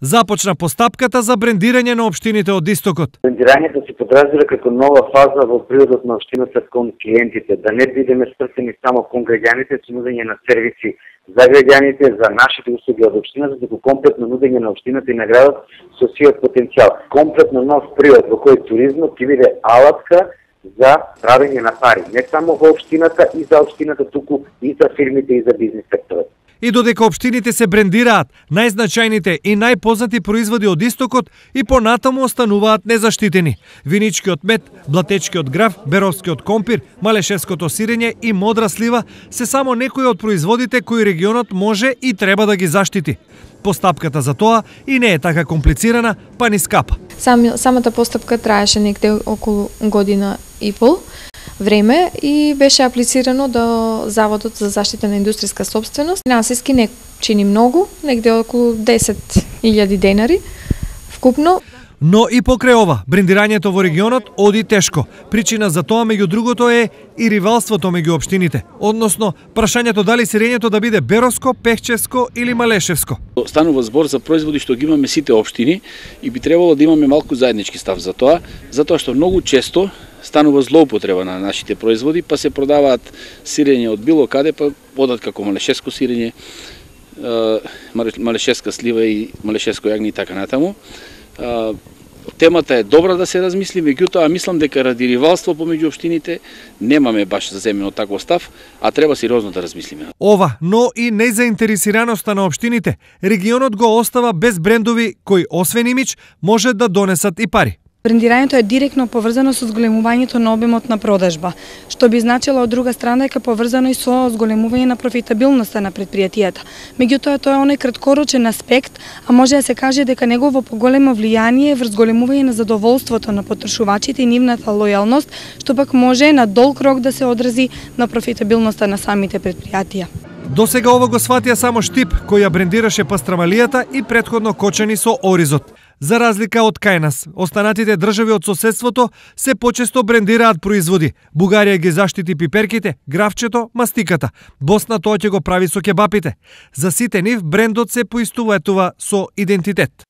Започна постапката за брендирање на општините од Истокот. Брендирањето се подразбира како нова фаза во природот на општината кон клиентите, да не бидеме свртени само кон граѓаните со нудење на сервиси за граѓаните, за нашите услуги од општината, туку комплетно нудење на општината и на градот со сиот потенцијал. Комплетно нов период во кој туризмот ќе биде алатка за правење на пари, не само во општината и за општината, туку и за фирмите и за бизнис секторот. И додека општините се брендираат, најзначајните и најпознати производи од Истокот и понатаму остануваат незаштитени. Виничкиот мед, блатечкиот граф, беровскиот компир, малешевското сирење и модра слива се само некои од производите кои регионот може и треба да ги заштити. Постапката за тоа и не е така комплицирана, па ни скапа. Самата постапка траеше некде околу година и пол време и беше аплицирано до Заводот за заштита на индустријска сопственост. Финансиски не чини многу, негде околу 10.000 денари вкупно. Но и покрај ова, брендирањето во регионот оди тешко. Причина за тоа, меѓу другото, е и ривалството меѓу општините, односно прашањето дали сирењето да биде беровско, пехчевско или малешевско. Станува збор за производи што ги имаме сите општини и би требало да имаме малку заеднички став за тоа, затоа што многу често станува злоупотреба на нашите производи, па се продаваат сирење од било каде, па одат како малешевско сирење, малешевска слива и малешевско јагне и така натаму. Темата е добра да се размисли, меѓутоа мислам дека ради ривалство помеѓу општините немаме баш заземено таков став, а треба сериозно да размислиме. Ова, но и незаинтересираноста на општините, регионот го остава без брендови кои освен имидж може да донесат и пари. Брендирањето е директно поврзано со зголемувањето на обемот на продажба, што би значило од друга страна дека поврзано и со зголемување на профитабилноста на претпријатијата. Меѓутоа тоа е оној краткорочен аспект, а може да се каже дека негово поголемо влијание е врз зголемување на задоволството на потрошувачите и нивната лојалност, што пак може на долг рок да се одрази на профитабилноста на самите претпријатија. До сега ова го сватија само Штип, кој ја брендираше пастрамалијата и претходно Кочани со оризот. За разлика од кај нас, останатите држави од соседството се почесто брендираат производи. Бугарија ги заштити пиперките, графчето, мастиката. Босна тоа ќе го прави со кебапите. За сите нив брендот се поистуватува со идентитет.